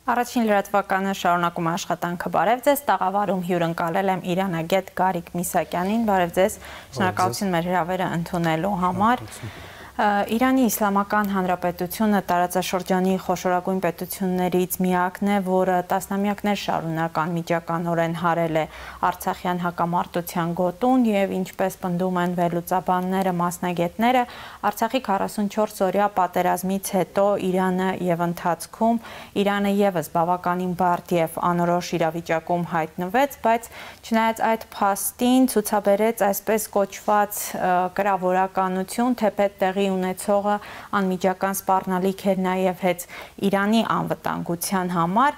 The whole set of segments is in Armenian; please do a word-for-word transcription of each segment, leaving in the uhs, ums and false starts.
Առաջին լրատվականը շարունակում աշխատանքը բարև ձեզ, տաղավարում հյուրընկալել եմ իրանագետ Գարիկ Միսակյանին, բարև ձեզ, շնորհակալություն մեր հրավերը ընդունելու համար։ Իրանի Իսլամական Հանրապետությունը տարածաշրջանի խոշորագույն պետություններից միակն է, որը տասնամյակներ շարունակ անմիջականորեն հարել է Արցախյան հակամարտության գոտուն եւ ինչպես պնդում են վերլուծաբանները, մասնագետները, Արցախի քառասունչորս օրյա պատերազմից հետո Իրանը եւ ընթացքում Իրանը եւս բավականին բարդ եւ անորոշ իրավիճակում հայտնվեց, բայց չնայած այդ փաստին ցուցաբերեց այսպես կոչված կրավորականություն, թեպետ տեղի ունեցողը անմիջական սպառնալիք էր նաև հենց Իրանի անվտանգության համար,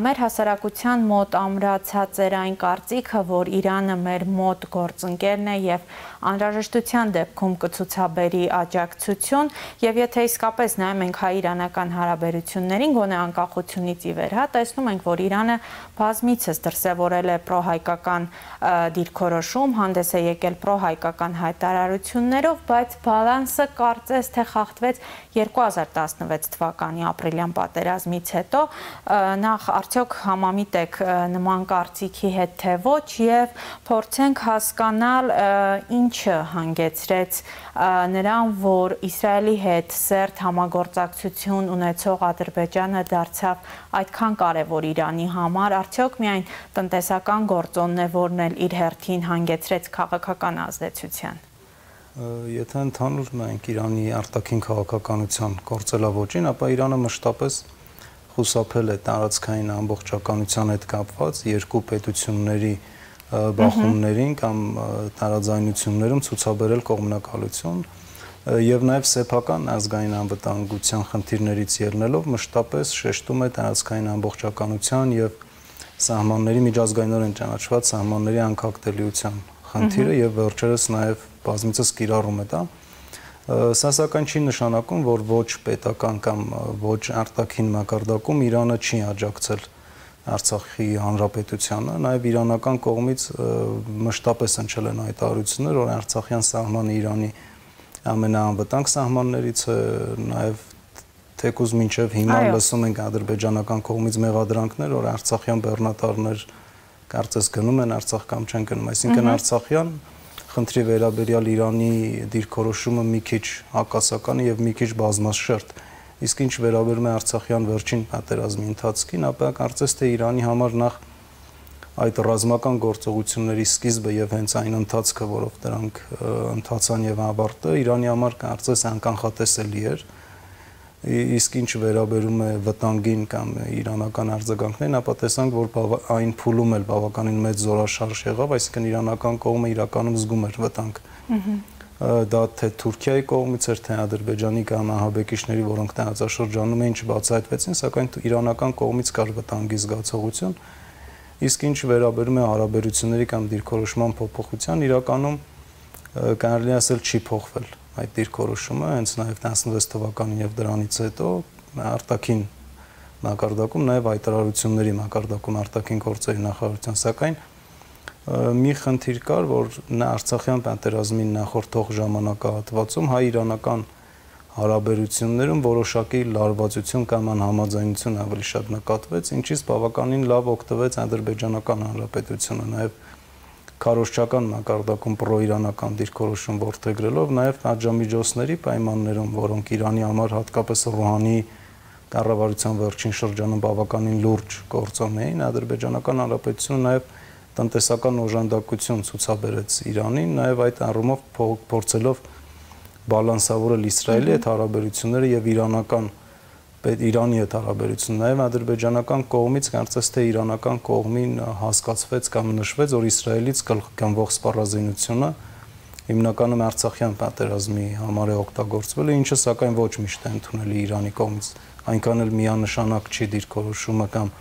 մեր հասարակության մոտ ամրացած էր այն կարծիքը, որ Իրանը մեր մոտ գործընկերն է եւ անհրաժեշտության դեպքում կցուցաբերի աջակցություն եւ եթե իսկապես նայում ենք հայ-իրանական հարաբերություններին, գոնե անկախությունից ի վեր, հա, տեսնում ենք, որ Իրանը բազմիցս դրսևորել է պրոհայկական դիրքորոշում, հանդես է եկել պրոհայկական հայտարարություններով, բայց բալանսը կարծես թե խախտվեց երկու հազար տասնվեց թվականի ապրիլյան պատերազմից հետո, նախ արդյոք համամիտ եք նման կարծիքի հետ թե ոչ եւ փորձենք հասկանալ ինչը հանգեցրեց նրան, որ Իսրայելի հետ սերտ համագործակցություն ունեցող Ադրբեջանը դարձավ այդքան կարևոր Իրանի համար, արդյոք միայն տնտեսական գործոնն է, որն էլ իր հերթին հանգեցրեց քաղաքական ազդեցության։ Եթե ընդհանուր նայենք Իրանի արտաքին քաղաքականության գործելավոճին, ապա Իրանը մշտապես խուսափել է տարածքային ամբողջականության հետ կապված երկու պետությունների բախումներին կամ տարաձայնություններում ցուցաբերել կողմնակալություն եւ նաեւ սեփական ազգային անվտանգության խնդիրներից ելնելով մշտապես շեշտում է տարածքային ամբողջականության եւ սահմանների միջազգայինորեն ճանաչված սահմանների անկախտելիության խնդիրը եւ վերջերս նաեւ բազմիցս կիրառում է դա։ Սա սակայն չի նշանակում, որ ոչ պետական կամ ոչ արտաքին մակարդակում Իրանը չի աջակցել Արցախի հանրապետությանը, նաեւ իրանական կողմից մշտապես հնչել են հայտարարություններ, որ Արցախյան սահմանը Իրանի ամենաանվտանգ սահմաններից է, նաեւ թեկուզ մինչեւ հիմա լսում ենք ադրբեջանական կողմից մեղադրանքներ, որ արցախյան բեռնատարներ կարծես գնում են Արցախ կամ չեն գնում, այսինքն Արցախյան խնդրի վերաբերյալ Իրանի դիրքորոշումը մի քիչ հակասական եւ մի քիչ բազմաշերտ, իսկ ինչ վերաբերում է Արցախյան վերջին պատերազմի ընթացքին, ապա կարծես թե Իրանի համար նախ այդ ռազմական գործողությունների սկիզբը եւ հենց այն ընթացքը, որով դրանք ընթացան եւ ավարտը, Իրանի համար կարծես անկանխատեսելի էր, իսկ ինչ վերաբերում է վտանգին կամ իրանական արձագանքներին, ապա տեսանք, որ այն փուլում էլ բավականին մեծ զորաշարժ եղավ, այսինքն իրանական կողմը իրականում զգում էր վտանգ։ Դա թե Թուրքիայի կողմից էր, թե Ադրբեջանի կամ ահաբեկիչների, որոնք տարածաշրջանում էին, չբացահայտվեցին, սակայն իրանական կողմից կար վտանգի զգացողություն, իսկ ինչ վերաբերում է հարաբերությունների կամ դիրքորոշման փոփոխության, իրականում կարելի ասել չի փոխվել այդ դիրքորոշումը, հենց նաև տասնվեց թվականին եւ դրանից հետո արտաքին մակարդակում, նաև հայտարարությունների մակարդակում արտաքին գործերի նախարարության, սակայն մի խնդիր կար, որ նա Արցախյան պատերազմին նախորդող ժամանակահատվածում հայ-իրանական հարաբերություններում որոշակի լարվածություն կամ անհամաձայնություն ավելի շատ նկատվեց, ինչից բավականին լավ օգտվեց Ադրբեջանական Հանրապետությունը, նաև քարոզչական մակարդակում պրոիրանական դիրքորոշում որդեգրելով, նաև պատժամիջոցների պայմաններում, որոնք Իրանի համար հատկապես Ռուհանիի կառավարության վերջին շրջանում բավականին լուրջ գործոն էին, Ադրբեջանական Հանրապետությունը նաև տնտեսական օժանդակություն ցուցաբերեց Իրանին, նաև այդ առումով փորձելով բալանսավորել Իսրայելի հետ հարաբերությունները եւ իրանական Իրանի հետ հարաբերություն, նաև ադրբեջանական կողմից կարծես թե իրանական կողմին հասկացվեց կամ նշվեց, որ Իսրայելից գնվող սպառազինությունը հիմնականում Արցախյան պատերազմի համար է օգտագործվել, ինչը սակայն ոչ միշտ է ընդունելի Իրանի կողմից, այնքան էլ միանշանակ չի դիրքորոշումը կամ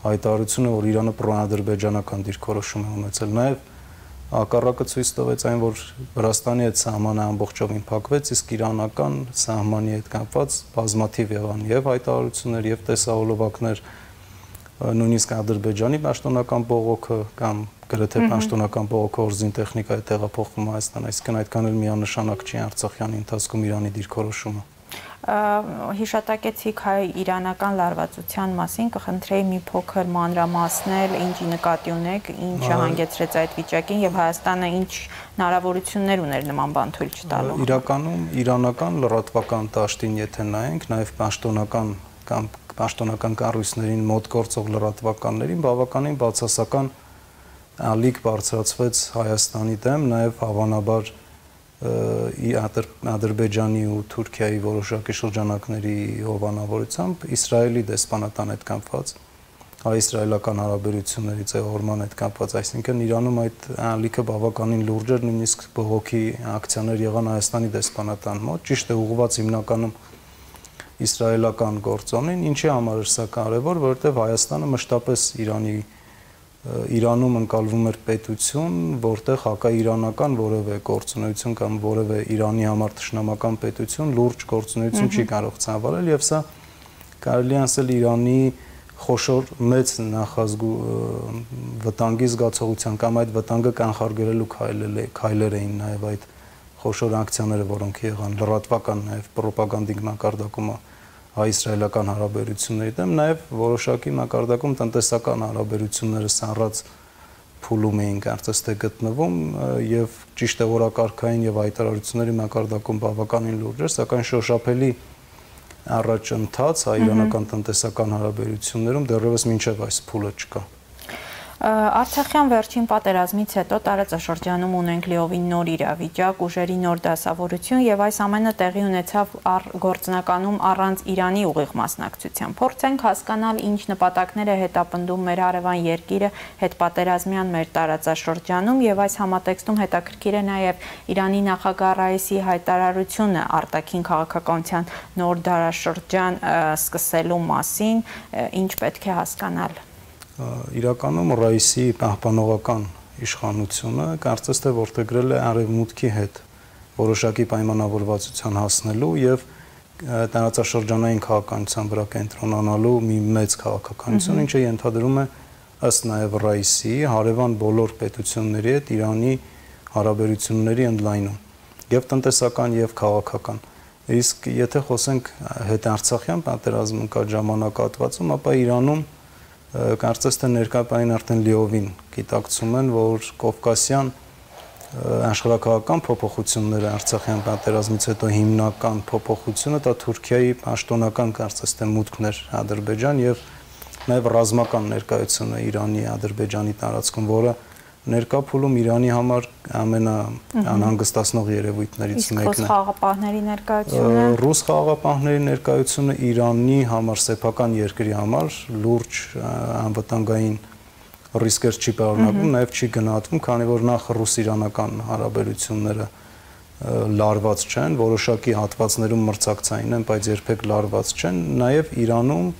հայտարարությունը, որ Իրանը պրոադրբեջանական դիրքորոշում է ունեցել, նաև հակառակը ցույց տվեց այն, որ Վրաստանի հետ սահմանը ամբողջովին փակվեց, իսկ իրանական սահմանի հետ կապված բազմաթիվ եղան եւ հայտարարություններ եւ տեսահոլովակներ, նույնիսկ Ադրբեջանի պաշտոնական բողոքը կամ գրեթե պաշտոնական բողոքը օրզին տեխնիկա է տեղափոխվում Հայաստան, այսինքն այդքան էլ միանշանակ չի Արցախյանի ընթացքում Իրանի դիրքորոշումը։ Հիշատակեցիք հայ-իրանական լարվածության մասին, կխնդրեի մի փոքր մանրամասնել, ինչի նկատի ունեք, ինչը հանգեցրեց այդ վիճակին եւ Հայաստանը ինչ հնարավորություններ ուներ նման բան թույլ չտալու։ Իրականում իրանական լրատվական դաշտին եթե նայենք, նաեւ պաշտոնական կամ պաշտոնական կառույցներին մոտ գործող լրատվականներին բավականին բացասական ալիք բարձրացվեց Հայաստանի դեմ, նաև հավանաբար Ադրբեջանի ու Թուրքիայի որոշակի շրջանակների հովանավորությամբ Իսրայելի դեսպանատան հետ կապված, հայ-իսրայելական հարաբերությունների ձևավորման հետ կապված, այսինքն Իրանում այդ ալիքը բավականին լուրջ էր, նույնիսկ բողոքի ակցիաներ եղան Հայաստանի դեսպանատան մոտ, ճիշտ է ուղղված հիմնականում իսրայելական գործոնին, ինչի համար էր սա կարևոր, որովհետև Հայաստանը մշտապես Իրանի Իրանում ընկալվում էր պետություն, որտեղ հակաիրանական որևէ գործունեություն կամ որևէ Իրանի համար թշնամական պետություն լուրջ գործունեություն չի կարող ծավալել եւ սա կարելի ասել Իրանի խոշոր մեծ նախազգու վտանգի զգացողության կամ այդ վտանգը կանխարգելելու քայլեր էին նաեւ այդ խոշոր ակցիաները, որոնք եղան լրատվական նաեւ ռոպագանդիկ մակարդակում հայ-իսրայելական հարաբերությունների դեմ, նաև որոշակի մակարդակում տնտեսական հարաբերությունները սառած փուլում էին կարծես թե գտնվում եւ ճիշտ է օրակարգային եւ հայտարարությունների մակարդակում բավականին լուրջ էր, սակայն շոշափելի առաջընթաց հայ-իրանական տնտեսական հարաբերություններում դեռևս մինչեւ այս փուլը չկա։ Արցախյան վերջին պատերազմից հետո տարածաշրջանում ունենք լիովին նոր իրավիճակ, ուժերի նոր դասավորություն եւ այս ամենը տեղի ունեցավ գործնականում առանց Իրանի ուղիղ մասնակցության։ Փորձենք հասկանալ ինչ նպատակներ է հետապնդում մեր հարևան երկիրը հետպատերազմյան մեր տարածաշրջանում եւ այս համատեքստում հետաքրքիր է նաեւ Իրանի նախագահ Ռայիսի հայտարարությունը արտաքին քաղաքականության նոր դարաշրջան սկսելու մասին, ինչ պետք է հասկանալ։ Իրականում Ռայիսի պահպանողական իշխանությունը կարծես թե որդեգրել է արևմուտքի հետ որոշակի պայմանավորվածության հասնելու եւ տարածաշրջանային քաղաքականության վրա կենտրոնանալու մի մեծ քաղաքականություն, ինչը ենթադրում է ըստ նաեւ Ռայիսի հարևան բոլոր պետությունների հետ Իրանի հարաբերությունների ընդլայնում եւ տնտեսական եւ քաղաքական։ Իսկ եթե խոսենք հետարցախյան պատերազմի կա ժամանակահատվածում, ապա Իրանում կարծես թե ներկայային արդեն լիովին գիտակցում են, որ կովկասյան աշխարհակաղակական փոփոխությունները Արցախյան պատերազմից հետո հիմնական փոփոխությունը դա Թուրքիայի պաշտոնական կարծես թե մուտքն էր Ադրբեջան եւ նաեւ ռազմական ներկայությունը Իրանի Ադրբեջանի տարածքում, որը ներկա փուլում Իրանի համար ամենաանհանգստացնող երևույթներից մեկն է։ Իսկ ռուս խաղաղապահների ներկայությունը Ռուս խաղաղապահների ներկայությունը Իրանի համար, սեփական երկրի համար լուրջ անվտանգային ռիսկեր չի պարունակում, նաև չի գնահատվում, քանի որ նախ ռուս-իրանական հարաբերությունները լարված չեն, որոշակի հատվածներում մրցակցային են, բայց երբեք լարված չեն, նաև Իրանում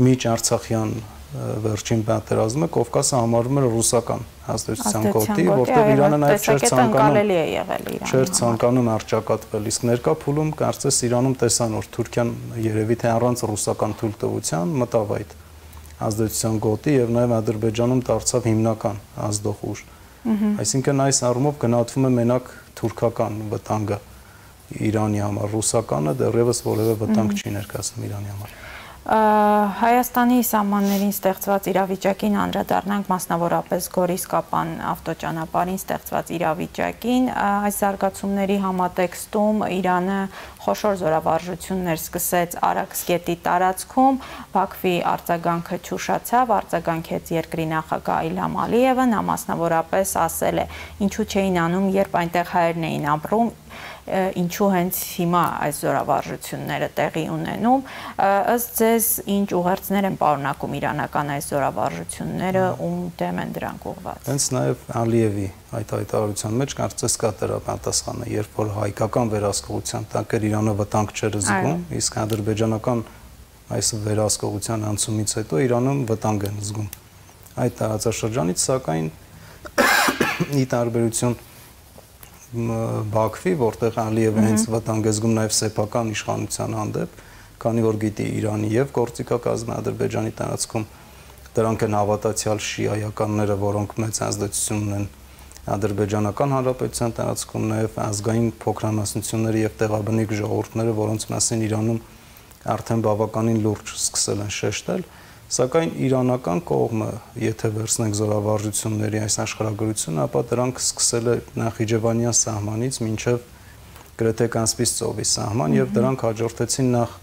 միջ-արցախյան վերջին պատերազմը Կովկասը համարվում էր ռուսական ազդեցության գոտի, որտեղ Իրանը նաև չէր ցանկանում չէր ցանկանում արճակատվել, իսկ ներկա փուլում կարծես Իրանում տեսան, որ Թուրքիան երևի թե առանց ռուսական թույլտվության մտավ այդ ազդեցության գոտի եւ նաև Ադրբեջանում դարձավ հիմնական ազդող ուժ։ Այսինքն այս առումով գնահատվում է մենակ թուրքական վտանգը Իրանի համար, ռուսականը դեռևս որևէ վտանգ չի ներկայացնում Իրանի համար։ Հայաստանի սահմաններին ստեղծված իրավիճակին անդրադառնանք մասնավորապես Գորիս-Կապան ավտոճանապարհին ստեղծված իրավիճակին, այս զարգացումների համատեքստում Իրանը խոշոր զորավարժություններ սկսեց Արաքսգետի տարածքում, Բաքվի արձագանքը չուշացավ, արձագանքեց երկրի նախագահ Իլհամ Ալիևը, նա մասնավորապես ասել է, ինչու չէին անում, երբ այնտեղ հայերն էին ապրում, ինչու հենց հիմա այս զորավարժությունները տեղի ունենում, ըստ ձեզ ինչ ուղերձներ են պարունակում իրանական այս զորավարժությունները, ում դեմ են դրանք ուղղված։ Հենց նաև Ալիևի այդ հայտարարության մեջ կարծես կա դրա պատասխանը, երբ որ հայկական վերահսկողության տակ էր Իրանը վտանգ չէր զգում, իսկ ադրբեջանական այս վերահսկողության անցումից հետո Իրանում վտանգ են զգում։ Այդ տարածաշրջանից սակայն ի տարբերություն Բաքվի, որտեղ Ալիևը հենց վտանգ է զգում նաև սեփական իշխանության հանդեպ, քանի որ գիտի Իրանի եւ գործիքակազմը Ադրբեջանի տարածքում դրանք են հավատացյալ շիայականները, որոնք մեծ ազդեցություն ունեն Ադրբեջանական Հանրապետության տարածքում, նաև ազգային փոքրանասնությունները եւ տեղաբնիկ ժողովուրդները, որոնց մասին Իրանում արդեն բավականին լուրջ սկսել են շեշտել, սակայն իրանական կողմը, եթե վերցնենք զորավարժությունների այս աշխարհագրությունը, ապա դրանք սկսել է Նախիջևանյան սահմանից մինչև գրեթե Կասպից ծովի սահման եւ դրանք հաջորդեցին նախ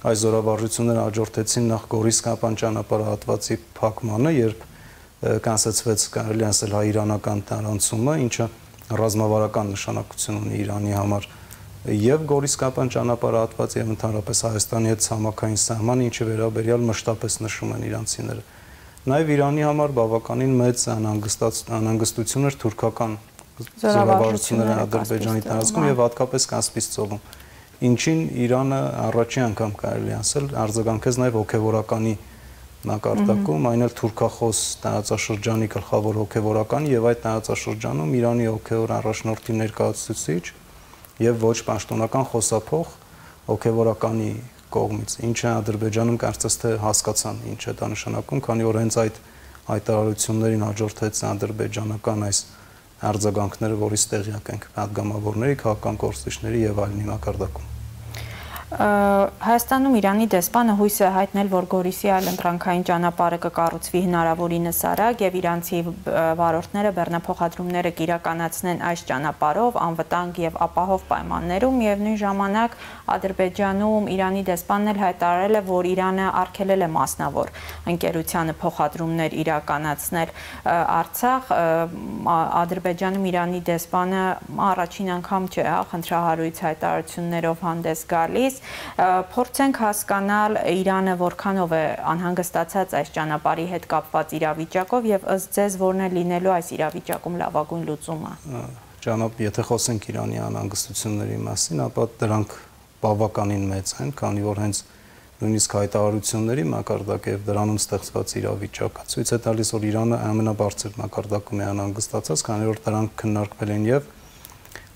այս զորավարժությունները հաջորդեցին նախ Գորիսկապան ճանապարհահատվածի փակմանը, երբ կանցեցվեց կարելի ասել հայ-իրանական տարանցումը, ինչը ռազմավարական նշանակություն ունի Իրանի համար եւ Գորիսկապան ճանապարհահատված եւ ընդհանրապես Հայաստանի հետ ցամաքային սահմանը, ինչի վերաբերյալ մշտապես նշում են իրանցիները։ Նաեւ Իրանի համար բավականին մեծ անհանգստություն էր թուրքական զորավարժությունները Ադրբեջանի տարածքում եւ հատկապես Կասպից ծովում, ինչին Իրանը առաջին անգամ կարելի ասել արձագանքեց նաեւ հոգեվորականի մակարդակում, այն էլ թուրքախոս տարածաշրջանի գլխավոր հոգեվորականի եւ այդ տարածաշրջանում Իրանի հոգեվոր առաջնորդի ներկայացուցիչ եւ ոչ պաշտոնական խոսափող հոգեվորականի կողմից, ինչը Ադրբեջանում կարծես թե հասկացան ինչ է դա նշանակում, քանի որ հենց այդ հայտարարություններին հաջորդեց ադրբեջանական այս արձագանքները, որից տեղյակ ենք պատգամավորների, քաղաքական գործիչների եւ այլնի մակարդակում։ Հայաստանում Իրանի դեսպանը հույս է հայտնել, որ Գորիսի այլընտրանքային ճանապարհը կկառուցվի հնարավորինս արագ եւ իրանցի վարորդները բեռնափոխադրումները կիրականացնեն այս ճանապարհով անվտանգ եւ ապահով պայմաններում եւ նույն ժամանակ Ադրբեջանում Իրանի դեսպանն էլ հայտարարել է, որ Իրանը արգելել է մասնավոր ընկերությանը փոխադրումներ իրականացնել Արցախ։ Ադրբեջանում Իրանի դեսպանը առաջին անգամ չէ, հա, խնդրահարույց հայտարարություններով հանդես գալիս։ Փորձենք հասկանալ Իրանը որքանով է անհանգստացած այս ճանապարհի հետ կապված իրավիճակով եւ ըստ ձեզ որն է լինելու այս իրավիճակում լավագույն լուծումը։ Ճանապարհ, եթե խոսենք Իրանի անհանգստությունների մասին, ապա դրանք բավականին մեծ են, քանի որ հենց նույնիսկ հայտարարությունների մակարդակը եւ դրանում ստեղծված իրավիճակը ցույց է տալիս, որ Իրանը ամենաբարձր մակարդակում է անհանգստացած, քանի որ դրանք քննարկվել են եւ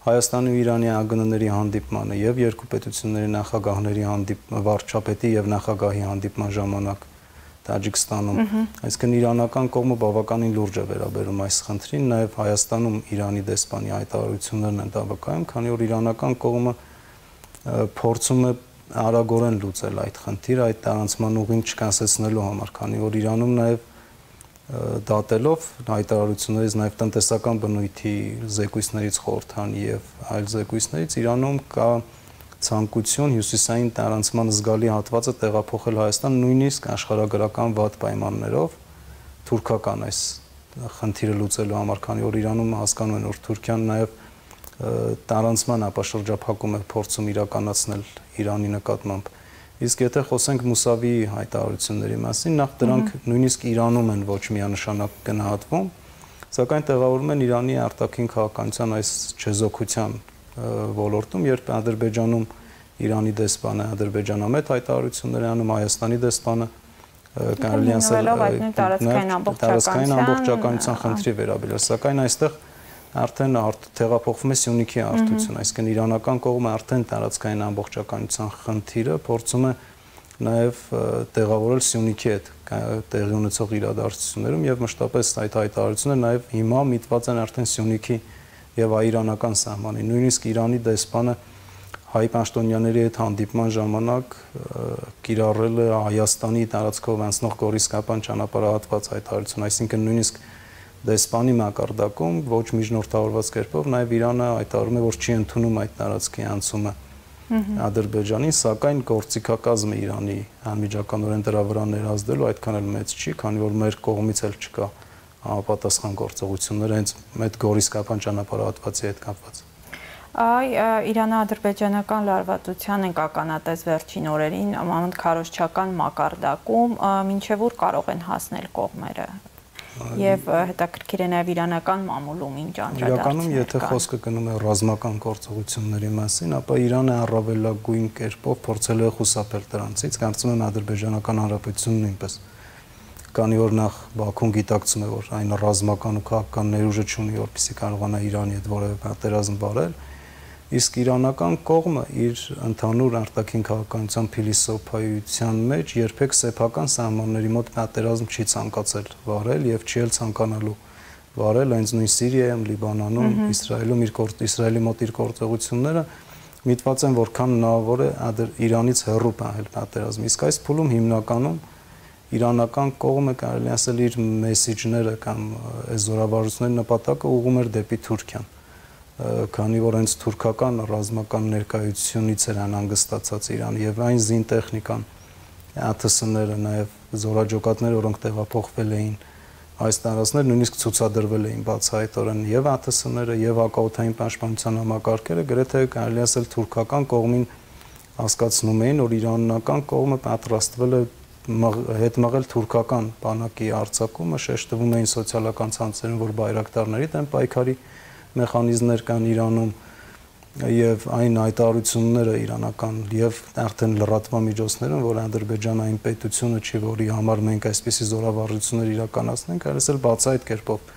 Հայաստանի ու Իրանի ԱԳՆ-ների հանդիպմանը եւ երկու պետությունների նախագահների հանդիպման վարչապետի եւ նախագահի հանդիպման ժամանակ Տաջիկստանում, այսինքն իրանական կողմը բավականին լուրջ է վերաբերում այս խնդրին, նաեւ Հայաստանում Իրանի դեսպանի հայտարարություններն են դավակայում, քանի որ իրանական կողմը փորձում է արագորեն լուծել այդ խնդիրը, այդ տարանցման ուղին չկանցնելու համար, քանի որ Իրանում նաեւ դատելով հայտարարություններից նաև տնտեսական բնույթի զեկույցներից խորհրդան եւ այլ զեկույցներից Իրանում կա ցանկություն հյուսիսային տարանցման զգալի հատվածը տեղափոխել Հայաստան նույնիսկ աշխարհագրական վատ պայմաններով թուրքական այս խնդիրը լուծելու համար, քանի որ Իրանում հասկանում են, որ Թուրքիան նաև տարանցման ապաշրջափակում է փորձում իրականացնել Իրանի նկատմամբ։ Իսկ եթե խոսենք Մուսավիի հայտարարությունների մասին, նախ դրանք նույնիսկ Իրանում են ոչ միանշանակ գնահատվում, սակայն տեղավորվում են Իրանի արտաքին քաղաքականության այս չեզոքության ոլորտում, երբ Ադրբեջանում Իրանի դեսպանը ադրբեջանամետ հայտարարություններ է անում, Հայաստանի դեսպանը կարելի ասել տարածքային ամբողջականության խնդրի վերաբերյալ, սակայն այստեղ արդեն տեղափոխվում է Սյունիքի արդյունություն, այսինքն իրանական կողմը արդեն տարածքային ամբողջականության խնդիրը փորձում է նաև տեղավորել Սյունիքի հետ տեղի ունեցող իրադարձություններում եւ մշտապես այդ հայտարարությունները նաև հիմա միտված են արդեն Սյունիքի եւ հայ-իրանական սահմանին։ Նույնիսկ Իրանի դեսպանը հայ պաշտոնյաների հետ հանդիպման ժամանակ կիրառել է Հայաստանի տարածքով անցնող Գորիսկապան ճանապարհահատված հայտարարություն, այսինքն նույնիսկ դեսպանի մակարդակում ոչ միջնորդավորված կերպով նաև Իրանը հայտարարում է, որ չի ընդունում այդ տարածքի անցումը Ադրբեջանին, սակայն գործիքակազմը Իրանի անմիջականորեն դրա վրա ներազդելու այդքան էլ մեծ չի, քանի որ մեր կողմից էլ չկա համապատասխան գործողություններ հենց այդ Գորիսկապան ճանապարհահատվածի հետ կապված։ Այ Իրано-ադրբեջանական լարվածության ենք ականատես վերջին օրերին քարոզչական մակարդակում, մինչև ուր կարող են հասնել կողմերը։ Եվ հետաքրքիր է նաև իրանական մամուլում ինչ անդրադարձներ կան։ Իրականում, եթե խոսքը գնում է ռազմական գործողությունների մասին, ապա Իրանը առավելագույն կերպով փորձել է խուսափել դրանցից, կարծում եմ Ադրբեջանական Հանրապետությունն նույնպես, քանի որ նախ Բաքուն գիտակցում է, որ այն ռազմական ու քաղաքական ներուժը չունի, որպեսզի կարողանա Իրանի հետ որևէ պատերազմ վարել, իսկ իրանական կողմը իր ընդհանուր արտաքին քաղաքականության փիլիսոփայության մեջ երբեք սեփական սահմանների մոտ պատերազմ չի ցանկացել վարել եւ չի էլ ցանկանալու վարել հենց նույն Սիրիայում, Լիբանանում, Իսրայելում իր Իսրայելի մոտ իր գործողությունները միտված են որքան հնարավոր է Իրանից հեռու պահել պատերազմը։ Իսկ այս փուլում հիմնականում իրանական կողմը կարելի ասել իր մեսիջները կամ այս զորավարությունների նպատակը ուղղում էր դեպի Թուրքիան, քանի որ հենց թուրքական ռազմական ներկայությունից էր անհանգստացած Իրանը եւ այն զինտեխնիկան, ա թ ս-ները, նաեւ զորաջոկատները, որոնք տեղափոխվել էին այս տարածքներ, նույնիսկ ցուցադրվել էին բացահայտորեն եւ ա թ ս-ները եւ հակաօդային պաշտպանության համակարգերը, գրեթե կարելի ասել թուրքական կողմին հասկացնում էին, որ իրանական կողմը պատրաստվել է հետ մղել թուրքական բանակի արձակումը, շեշտվում էին սոցիալական ցանցերում, որ բայրակտարների դեմ պայքարի մեխանիզմներ կան Իրանում եւ այն հայտարարությունները իրանական եւ արդեն լրատվական միջոցներում, որ Ադրբեջանային պետությունը չի, որի համար մենք այսպիսի զորավարժություններ իրականացնենք, այլսել բացահայտ կերպով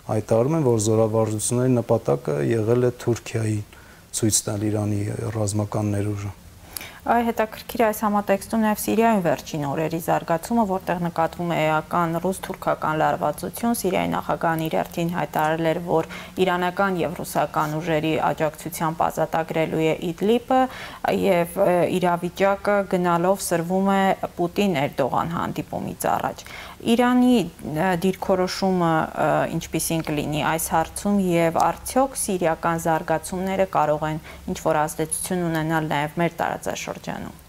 հայտարարում են, որ զորավարժությունների նպատակը եղել է Թուրքիայի ցույց տալ Իրանի ռազմական ներուժը։ Այ հետաքրքիր այս համատեքստում նաև Սիրիայում վերջին օրերի զարգացումը, որտեղ նկատվում է էական ռուս-թուրքական լարվածություն, Սիրիայի նախագահն իր հերթին հայտարարել էր, որ իրանական եւ ռուսական ուժերի աջակցությամբ ազատագրելու է Իդլիբը եւ իրավիճակը գնալով սրվում է Պուտին-Էրդողան հանդիպումից առաջ։ Իրանի դիրքորոշումը ինչպիսին կլինի այս հարցում եւ արդյոք սիրիական զարգացումները կարող են ինչ-որ ազդեցություն ունենալ նաեւ մեր տարածաշրջանում։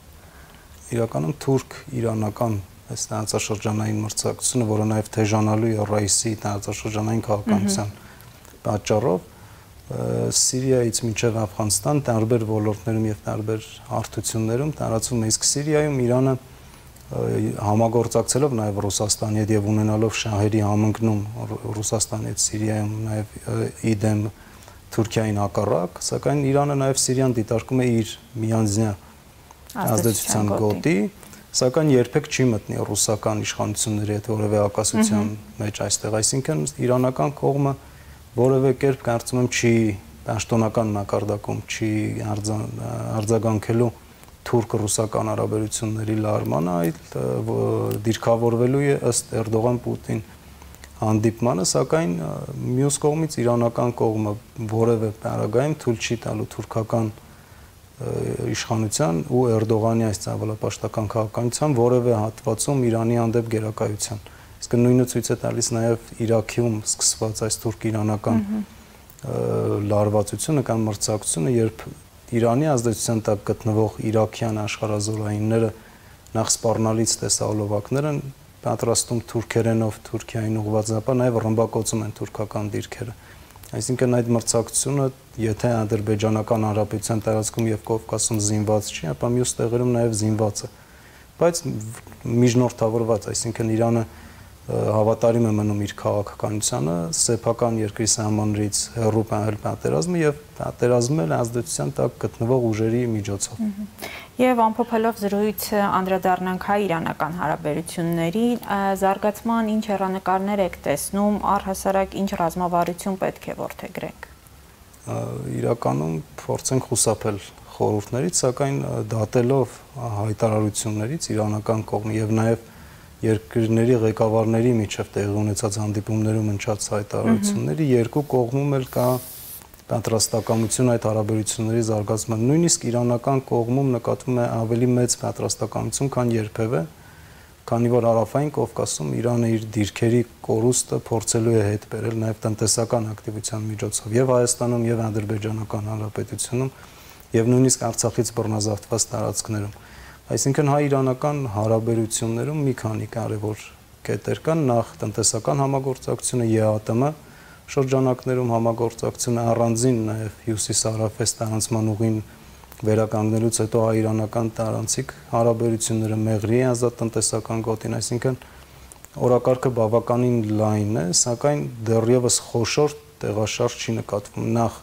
Իրականում թուրք-իրանական այս տարածաշրջանային մրցակցությունը, որը նաեւ թեժանալու է Ռայսի տարածաշրջանային քաղաքականության պատճառով, Սիրիայից մինչև Աֆղանստան տարբեր ոլորտներում եւ տարբեր հարթություններում տարածվում է, իսկ Սիրիայում Իրանը համագործակցելով նաև Ռուսաստանի հետ եւ ունենալով շահերի համընկնում Ռուսաստանի հետ Սիրիայում նաև իդեմ Թուրքիային հակառակ, սակայն Իրանը նաև Սիրիան դիտարկում է իր միանձնյա ազդեցության գոտի, սակայն երբեք չի մտնի ռուսական իշխանությունների հետ որևէ հակասության մեջ այստեղ, այսինքն իրանական կողմը որևէ կերպ կարծում եմ չի պաշտոնական մակարդակում չի արձագանքելու թուրք-ռուսական հարաբերությունների լարմանը, այլ դիրքավորվելու է ըստ Էրդողան-Պուտին հանդիպմանը, սակայն մյուս կողմից իրանական կողմը որևէ պարագայում թույլ չի տալու թուրքական իշխանության ու Էրդողանի այս ցավալապաշտական քաղաքականության որևէ հատվածում Իրանի հանդեպ գերակայության։ Իսկ նույնը ցույց է տալիս նաև Իրաքում սկսված այս թուրք-իրանական լարվածությունը կամ մրցակցությունը, երբ Իրանի ազդեցության տակ գտնվող իրաքյան աշխարհազորայինները նախ սպառնալից տեսահոլովակներ են պատրաստում թուրքերենով Թուրքիային ուղղված, ապա նաև ռմբակոծում են թուրքական դիրքերը։ Այսինքն այդ մրցակցությունը, եթե ադրբեջանական հանրապետության տարածքում եւ Կովկասում զինված չի, ապա մյուս տեղերում նաև զինված է, բայց միջնորդավորված, այսինքն Իրանը հավատարիմ է մնում իր քաղաքականությանը, սեփական երկրի սահմաններից հեռու պահել պատերազմը եւ պատերազմել ազդեցության տակ գտնվող ուժերի միջոցով։ Եվ ամփոփելով զրույցը անդրադառնանք հայ-իրանական հարաբերությունների զարգացման ինչ հեռանկարներ եք տեսնում, առհասարակ ինչ ռազմավարություն պետք է որդեգրենք։ Իրականում փորձենք խուսափել խորհուրդներից, սակայն դատելով հայտարարություններից իրանական կողմի եւ նաեւ երկրների ղեկավարների միջև տեղի ունեցած հանդիպումներում ընչած հայտարարությունների երկու կողմում էլ կա պատրաստակամություն այդ հարաբերությունների զարգացման, նույնիսկ իրանական կողմում նկատվում է ավելի մեծ պատրաստակամություն, քան երբևէ, քանի որ Հարավային Կովկասում Իրանը իր դիրքերի կորուստը փորձելու է հետ բերել նաև տնտեսական ակտիվության միջոցով եւ Հայաստանում եւ Ադրբեջանական Հանրապետությունում եւ նույնիսկ Արցախից բռնազավթված տարածքներում։ Այսինքն հայ-իրանական հարաբերություններում մի քանի կարևոր կետեր կան, նախ տնտեսական համագործակցությունը, Է Ա Տը շրջանակներում համագործակցությունը, առանձին նաև հյուսիս-հարավես տարանցման ուղին վերականգնելուց հետո հայ-իրանական տարանցիկ հարաբերությունները, Մեղրիի ազատ տնտեսական գոտին, այսինքն օրակարգը բավականին լայն է, սակայն դեռևս խոշոր տեղաշարժ չի նկատվում, նախ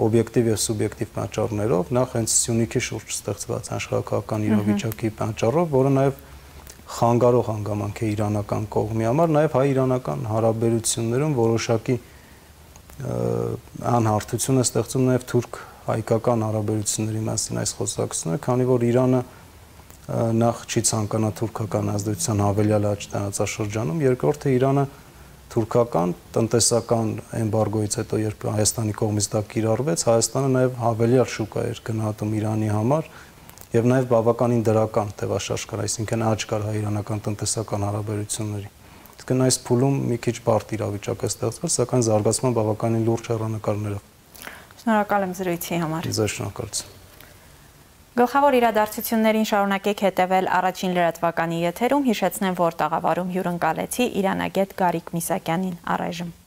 օբյեկտիվ եւ սուբյեկտիվ պատճառներով, նախ հենց Սյունիքի շուրջ ստեղծված աշխարհակաղակական իրավիճակի պատճառով, որը նաեւ խանգարող հանգամանք է իրանական կողմի համար, նաեւ հայ-իրանական հարաբերություններում որոշակի անհարթություն է ստեղծում նաեւ թուրք-հայկական հարաբերությունների մասին այս խոսակցությունը, քանի որ Իրանը նախ չի ցանկանա թուրքական ազդեցության հավելյալ աճ տարածաշրջանում, երկրորդը Իրանը թուրքական տնտեսական էմբարգոյից հետո երբ Հայաստանի կողմից դա կիրառվեց, Հայաստանը նաև հավելյալ շուկա էր գնահատում Իրանի համար եւ նաև բավականին դրական տևաշարժ կար, այսինքն աճ կար հայ-իրանական տնտեսական հարաբերությունների։ Իսկ այս փուլում մի քիչ բարդ իրավիճակ է ստեղծվել, սակայն զարգացման բավականին լուրջ հեռանկարներով։ Շնորհակալ եմ զրույցի համար։ Ձեզ շնորհակալություն։ Գլխավոր իրադարձություններին շարունակեք հետևել առաջին լրատվականի եթերում, հիշեցնեմ, որ տաղավարում հյուրընկալեցի իրանագետ Գարիկ Միսակյանին առայժմ։